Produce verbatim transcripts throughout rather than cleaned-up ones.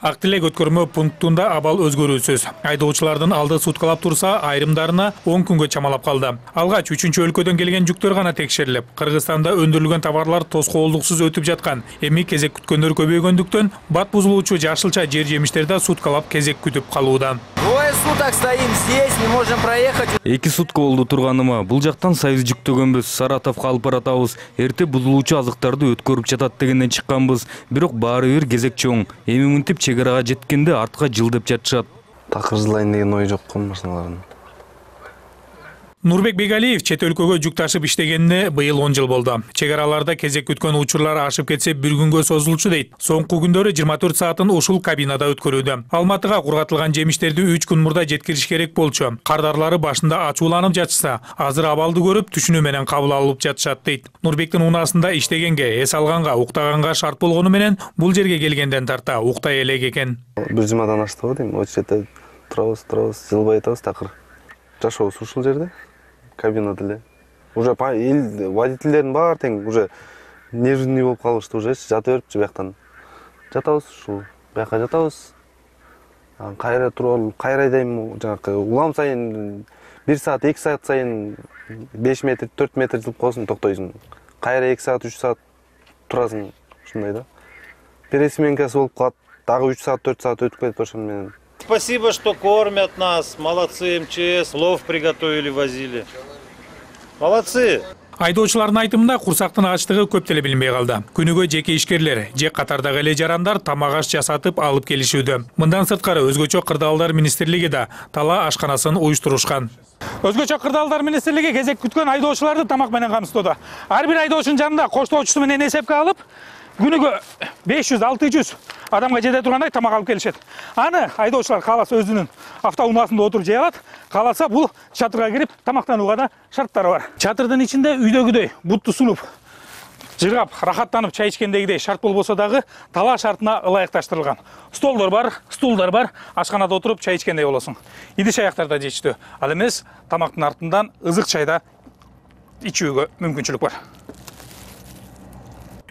Ак Тилек өткөрмө пунктунда абал өзгөрүүсүз. Айдоочулардын алды суткалап турса, айрымдарына он күнгө чамалап калды. Алгач үчүнчү өлкөдөн келген жүктөр гана текшерилип, Кыргызстанда өндүрүлгөн товарлар тоскоолдуксуз өтүп жаткан. Эми кезек күткөндөр көбөйгөндүктөн бат бузулуучу жашылча жер жемиштерде суткалап кезек күтүп калууда. Двое суток стоим здесь, не можем проехать. Эки сутка болду турганыма. Бул жактан Союз жүктөгөнбүз, Саратовго алып баратабыз. Эрте бузулуучу азыктарды өткөрүп жатат дегенден чыкканбыз. Бирок баары бир кезек чоң. Эми мынтип чегарага жеткенде артка жылдеп жатышат. Такыр жылайын деген ой жок машиналардын. Нурбек Бегалиев чет өлкөгө жүк ташып иштегенине быйыл он жыл болду. Чегараларда кезек күткөн учурлар ашып кетсе бир күнгө созулчу дейт. Соңку күндөрү жыйырма төрт саатын ушул кабинада өткөрүүдө. Алматыга кургатылган жемиштерди үч күн мурда жеткириш керек болчу. Кардарлары башында ачууланып жатышса, азыр абалды көрүп түшүнүү менен кабыл алып жатышат дейт. Нурбектин унаасында иштегенге, эс алганга, уктаганга шарт болгону менен бул жерге келгенден тарта уктай элек экен. бир жумадан аштыбы дейм, очередте турабыз, турабыз, жылбай атабыз такыр. Жашообуз ушул жерде. Кабинада эле. Уже эл водительдердин баары тең уже нервный болуп калышты, уже жата берипчи бияктан. Жатабыз ушул, бияка жатабыз. Кайра туруп, кайра айдайм, жанакы улам сайын бир саат, эки саат сайын беш метр, төрт метр жылып калсың, токтойсуң. Кайра эки саат, үч саат турасың, ушундай да. Пересменкасы болуп калат, дагы үч саат, төрт саат өтүп кетип ошон менен. Спасибо, что кормят нас. Молодцы, эм че эс. Плов приготовили, возили. Молодцы. Айдоочулардын айтымында курсактын ачтыгы көп деле билинбей калды. Күнүгө жеке ишкерлер, же катардагы эле жарандар тамак аш жасатып алып келишүүдө. Мындан сырткары өзгөчө кырдаалдар министрлиги да тала ашканасын уюштурушкан. Өзгөчө кырдаалдар министрлиги кезек күткөн айдоочуларды тамак менен камсыздоодо. Ар бир айдоочунун жанында коштоочусу менен эсепке алып, күнүгө беш жүз алты жүз адамга жете тургандай тамак алып келишет. Аны айдоочулар кааласа өзүнүн автоунаасында отуруп жей алат, кааласа бул чатырга кирип тамактанууга да шарттары бар. Чатырдын ичинде үйдөгүдөй бутту сунуп, жыргап, рахаттанып чай ичкендегидей шарт болбосо дагы тала шартына ылайыкташтырылган. Столдор бар, стулдар бар, ашканада отуруп чай ичкендей болосуң. Идиш аяктарда жечтүү. Ал эмес тамактын артынан ызык чайда ичүүгө мүмкүнчүлүк бар.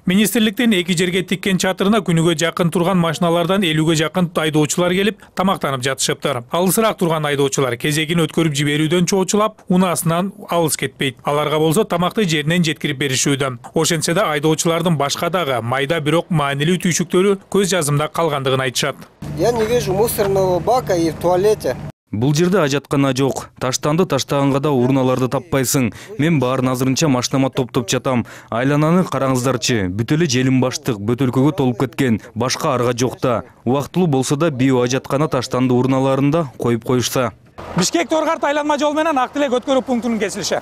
Министрликтин эки жерге тиккен чатырына күнүгө жакын турган машиналардан элүүгө жакын айдоочулар келип тамактанып жатышыптыр. Алысыраак турган айдоочулар кезегин өткөрүп жиберүүдөн чоочулап, унаасынан алыс кетпейт. Аларга болсо тамакты жеринен жеткирип беришүүдө. Ошентсе да айдоочулардын башка дагы майда бирок маанилүү түйшүктөрү көз жазымда калгандыгын айтышат. Я не вижу мусорного бака и в туалете. Бул жерде ажаткана жок. Таштанды таштаганга да урналарды таппайсың. Мен баарын азырынча машинама топтоп жатам. Айлананы караңыздарчы. Бүт эле желим баштык, бөтөлкөгө толуп кеткен. Башка арга жок да. Убактылуу болсо да био ажаткана таштанды урналарында коюп коюшса. Бишкек Торгарт айланма жол менен Ак Тилек өткөрүү пунктунун кесилиши.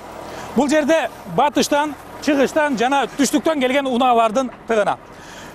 Бул жерде батыштан, чыгыштан жана түштүктөн келген унаалардын тыгына.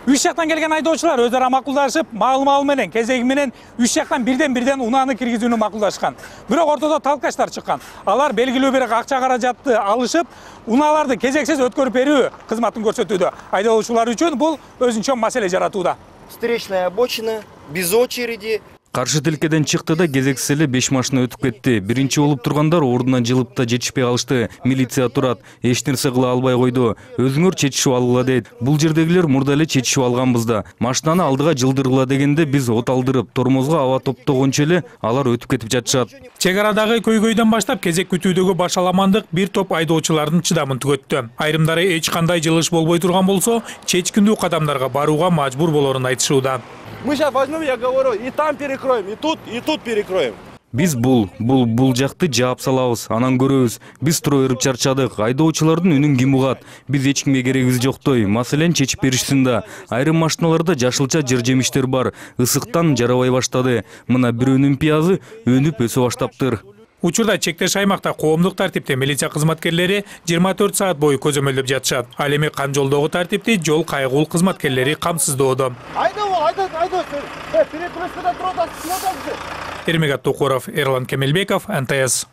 Үч жактан келген айдоочулар өз ара макулдашып, маал-маал менен, кезеги менен үч жактан бирден-бирден унааны киргизүүнү макулдашкан. Бирок ортодо талкаштар чыккан. Алар белгилүү бир акча каражатты алышып, унааларды кезексиз өткөрүп берүү кызматын көрсөтүүдө. Айдоочулар үчүн бул өзүнчө маселе жаратууда. Встречная обочина, без очереди. Каршы тилкеден чыкты да кезексиз эле беш машина өтүп кетти. Биринчи болуп тургандар ордунан жылып да жетишпей калышты. Милиция турат, эч нерсе кыла албай койду. Өзүңөр чечишип алгыла дейт. Бул жердегилер мурда эле чечишип алганбыз да. Машинаны алдыга жылдыргыла дегенде биз от алдырып, тормозго аба топтогончо эле алар өтүп кетип жатышат. Чек арадагы көйгөйдөн баштап кезек күтүүдөгү башаламандык бир топ айдоочулардын чыдамын түгөттү. Айрымдары эч кандай жылыш болбой турган болсо, чечкиндүү кадамдарга барууга мажбур болорун айтышууда. Мы сейчас возьмем, я говорю, и там перекроем, и тут, и тут перекроем. Биз бул, бул, бул жакты жаап салабыз, анан көрөбүз. Биз тура берип чарчадык. Айдоочулардын үнүн ким угат? Биз эч кимге керегибиз жоктой. Маселени чечип беришсин да. Айрым машиналарда жашылча жер жемиштер бар. Ысыктан жарабай баштады. Мына бирөөнүн пиязы өнүп өсө баштаптыр. Учурда чектеш аймакта коомдук тартипте милиция кызматкерлери жыйырма төрт саат бою көзөмөлдөп жатышат. Ал эми кан жолдогу тартипти жол кайгуул кызматкерлери камсыздоодо. Эрмек Аттукуров, Эрлан Кемелбеков, эн тэ эс.